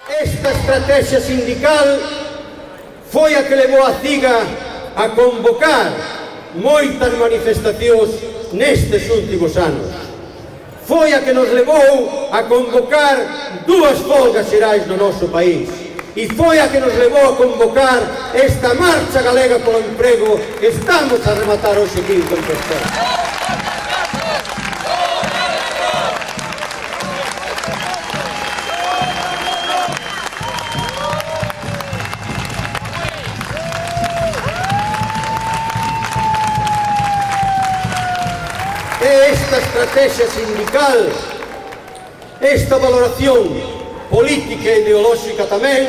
Esta estrategia sindical foi a que levou a CIGA a convocar moitas manifestacións nestes últimos anos. Foi a que nos levou a convocar 2 folgas xerais no noso país. E foi a que nos levou a convocar esta marcha galega polo emprego que estamos a rematar hoxe aquí en Compostela. Esta estrategia sindical, esta valoración política e ideolóxica tamén,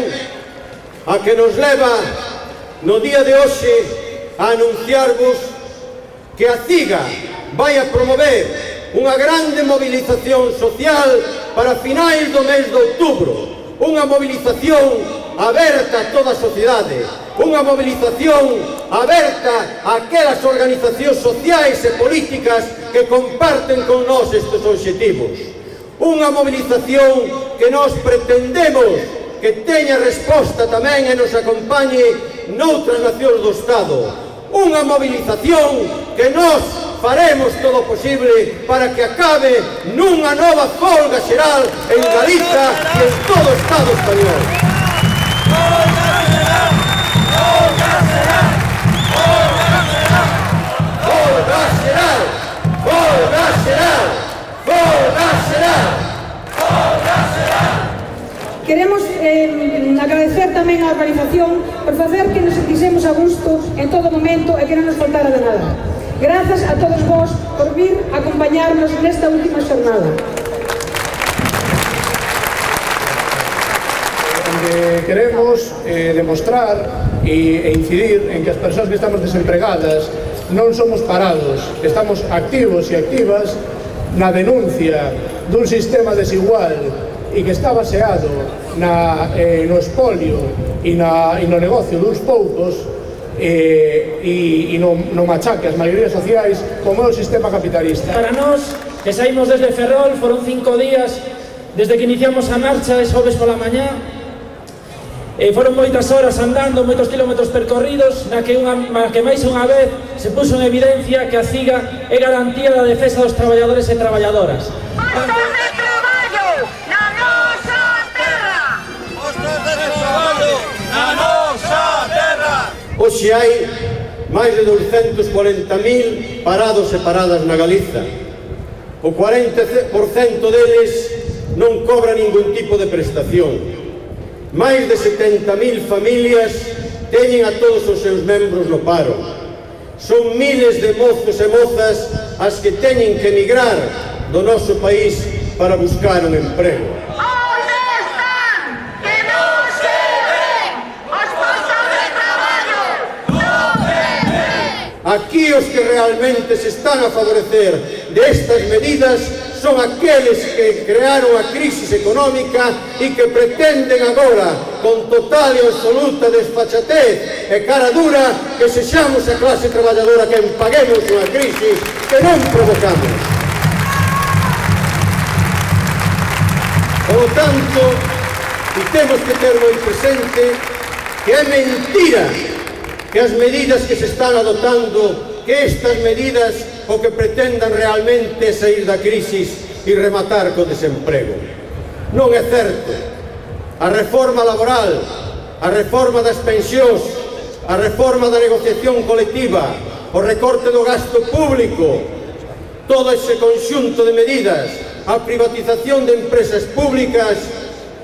a que nos leva no día de hoxe a anunciarvos que a CIGA vai a promover unha grande movilización social para finais do mes de outubro, unha movilización aberta a toda a sociedade, unha movilización aberta a aquelas organizacións sociais e políticas que comparten con nós estes obxectivos. Unha movilización que nós pretendemos que teña resposta tamén e nos acompañe noutras nacións do Estado. Unha movilización que nós faremos todo o posible para que acabe nunha nova folga xeral en Galiza e en todo o Estado español. Queremos agradecer tamén á organización por facer que nos sentisemos a gusto en todo momento e que non nos faltara de nada. Grazas a todos vos por vir a acompañarnos nesta última xornada. Queremos demostrar e incidir en que as persoas que estamos desempregadas non somos parados, estamos activos e activas na denuncia dun sistema desigual e que está baseado no espolio e no negocio duns poucos e no machaque ás maiorías sociais como é o sistema capitalista. Para nós, que saímos desde Ferrol, foron 5 días desde que iniciamos a marcha de xoves pola mañá. Foron moitas horas andando, moitos kilómetros percorridos, na que máis unha vez se puso en evidencia que a CIGA é garantía da defensa dos traballadores e traballadoras. Postos de traballo na nosa terra! Postos de traballo na nosa terra! Hoxe hai máis de 240.000 parados e paradas na Galiza. O 40% deles non cobra ningún tipo de prestación. Máis de 70.000 familias teñen a todos os seus membros no paro. Son miles de mozos e mozas as que teñen que emigrar do noso país para buscar un emprego. Onde están? Que non se ven os postos de traballo! Non se ven! Aquí os que realmente se están a favorecer destas medidas son aqueles que crearon a crisis económica e que pretenden agora, con total e absoluta desfachatez e cara dura, que sexamos a clase traballadora que paguemos unha crisis que non provocamos. Por lo tanto, temos que ter moi presente que é mentira que as medidas que se están adoptando, que estas medidas o que pretendan realmente sair da crisis e rematar co desemprego. Non é certo. A reforma laboral, a reforma das pensións, a reforma da negociación colectiva, o recorte do gasto público, todo ese conxunto de medidas, a privatización de empresas públicas,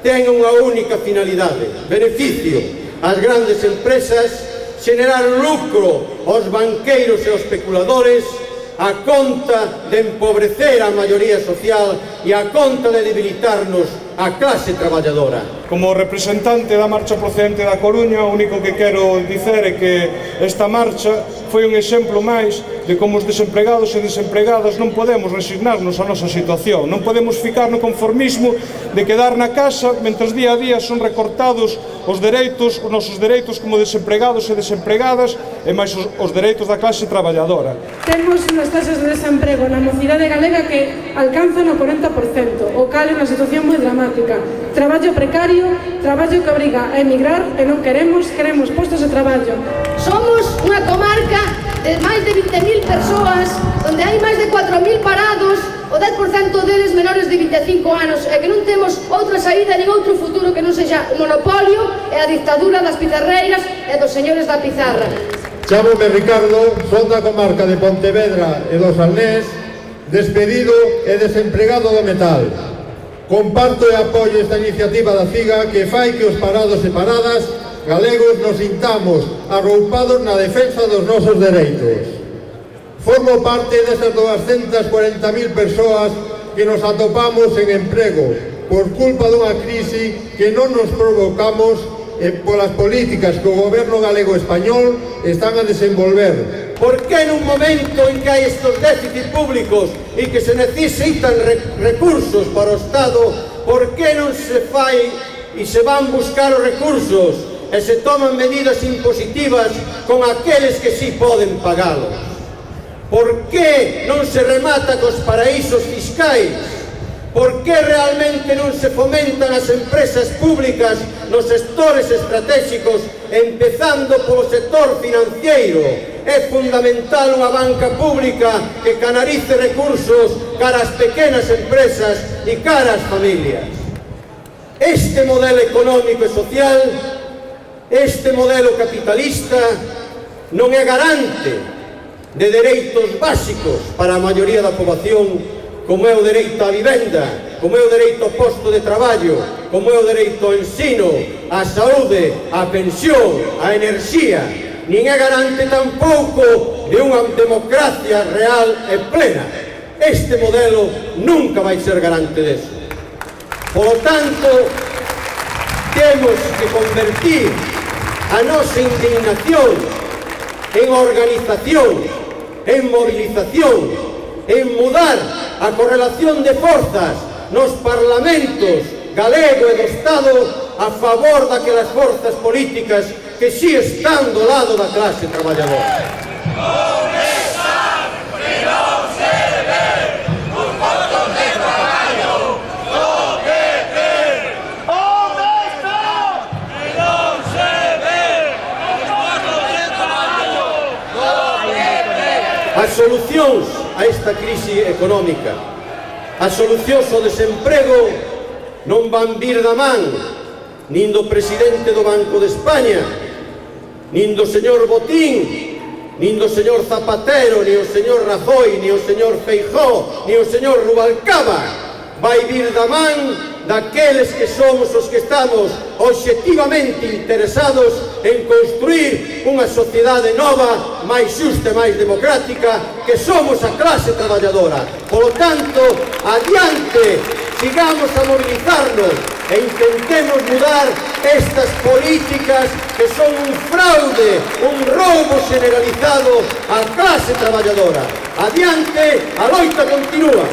ten unha única finalidade: beneficio ás grandes empresas, xenerar lucro aos banqueiros e aos especuladores, a conta de empobrecer a maioría social e a conta de debilitarnos a clase traballadora. Como representante da marcha procedente da Coruña, o único que quero dicer é que esta marcha foi un exemplo máis de como os desempregados e desempregadas non podemos resignarnos á nosa situación, non podemos ficar no conformismo de quedar na casa mentre día a día son recortados os dereitos, os nosos dereitos como desempregados e desempregadas e máis os dereitos da clase traballadora. Temos unhas taxas de desemprego na mocidade galega que alcanzan o 40%, o cal é unha situación moi dramática. Traballo precario, traballo que obriga a emigrar e non queremos postos de traballo. Somos unha comarca de máis de 20.000 persoas, onde hai máis de 4.000 parados, o 10% deles menores de 25 anos, e que non temos outra saída nin outro futuro que non sexa o monopolio e a dictadura das pizarreiras e dos señores da pizarra. Chámome Ricardo, son da comarca de Pontevedra e do Salnés, despedido e desempregado do metal. Comparto e apoio esta iniciativa da CIGA que fai que os parados e paradas galegos nos sintamos arroupados na defensa dos nosos dereitos. Formo parte desas 240.000 persoas que nos atopamos en emprego por culpa dunha crise que non nos provocamos polas políticas que o goberno galego español están a desenvolver. ¿Por qué en un momento en que hai estos déficits públicos e que se necesitan recursos para o Estado, por que non se fai e se van buscar os recursos e se toman medidas impositivas con aqueles que sí poden pagalos? Por que non se remata cos paraísos fiscais? Por que realmente non se fomentan as empresas públicas nos sectores estratégicos, empezando polo sector financiero? É fundamental unha banca pública que canalice recursos cara ás pequenas empresas e cara ás familias. Este modelo económico e social, este modelo capitalista, non é garante de dereitos básicos para a maioría da poboación, como é o dereito á vivenda, como é o dereito ao posto de traballo, como é o dereito ao ensino, á saúde, á pensión, á enerxía, nin é garante tampouco de unha democracia real e plena. Este modelo nunca vai ser garante deso. Por lo tanto, temos que convertir a nosa indignación en organización, en movilización, en mudar a correlación de forzas nos parlamentos galego e do Estado a favor daquelas forzas políticas que si están do lado da clase traballadora. As solucións a esta crise económica, as solucións ao desemprego non van vir da man nin do presidente do Banco de España, nin do señor Botín, nin do señor Zapatero, nin o señor Rajoy, nin o señor Feijóo, nin o señor Rubalcaba. Vai vir da man daqueles que somos os que estamos obxectivamente interesados en construir unha sociedade nova, máis xusta e máis democrática, que somos a clase traballadora. Por lo tanto, adiante, sigamos a movilizarnos e intentemos mudar estas políticas que son un fraude, un roubo generalizado á clase traballadora. Adiante, a loita continúa.